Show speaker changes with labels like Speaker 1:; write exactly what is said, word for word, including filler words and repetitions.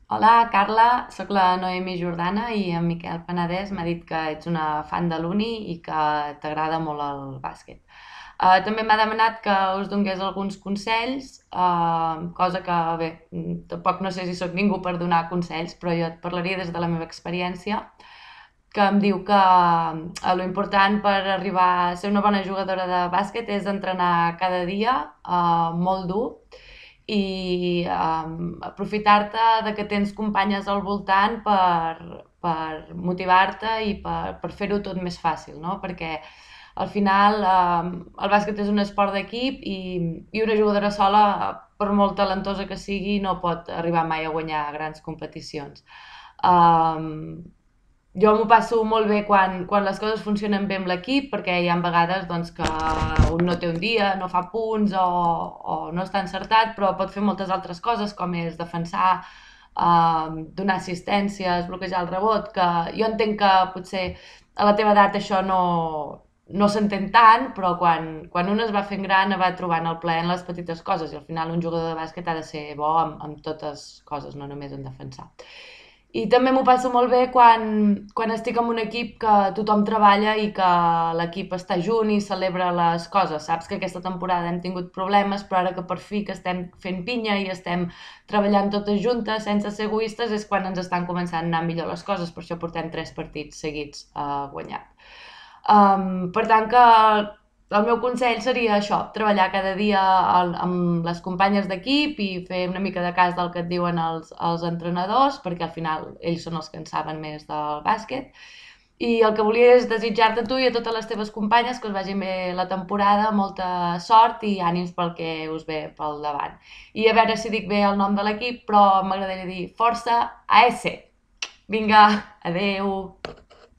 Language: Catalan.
Speaker 1: Hola, Carla, sóc la Noemi Jordana i en Miquel Penedès m'ha dit que ets una fan de l'Uni i que t'agrada molt el bàsquet. Uh, també m'ha demanat que us donés alguns consells, uh, cosa que, bé, mm, tampoc no sé si sóc ningú per donar consells, però jo et parlaria des de la meva experiència, que em diu que uh, lo important per arribar a ser una bona jugadora de bàsquet és entrenar cada dia, uh, molt dur, i um, aprofitar-te de que tens companyes al voltant per, per motivar-te i per, per fer-ho tot més fàcil, no? Perquè al final um, el bàsquet és un esport d'equip i, i una jugadora sola, per molt talentosa que sigui, no pot arribar mai a guanyar grans competicions. Um, jo m'ho passo molt bé quan, quan les coses funcionen bé amb l'equip, perquè hi ha vegades doncs, que un no té un dia, no fa punts o, o no està encertat, però pot fer moltes altres coses, com és defensar, eh, donar assistències, bloquejar el rebot, que jo entenc que potser a la teva edat això no, no s'entén tant, però quan, quan un es va fent gran va trobant el plaer en les petites coses i al final un jugador de bàsquet ha de ser bo amb, amb totes coses, no només en defensar. I també m'ho passo molt bé quan, quan estic en un equip que tothom treballa i que l'equip està junt i celebra les coses. Saps que aquesta temporada hem tingut problemes, però ara que per fi que estem fent pinya i estem treballant totes juntes sense ser egoistes és quan ens estan començant a anar millor les coses. Per això portem tres partits seguits uh, guanyat. Um, per tant que el meu consell seria això, treballar cada dia al, amb les companyes d'equip i fer una mica de cas del que et diuen els, els entrenadors, perquè al final ells són els que en saben més del bàsquet. I el que volia és desitjar-te a tu i a totes les teves companyes que us vagi bé la temporada, molta sort i ànims pel que us ve pel davant. I a veure si dic bé el nom de l'equip, però m'agradaria dir Força A S. Vinga, adeu!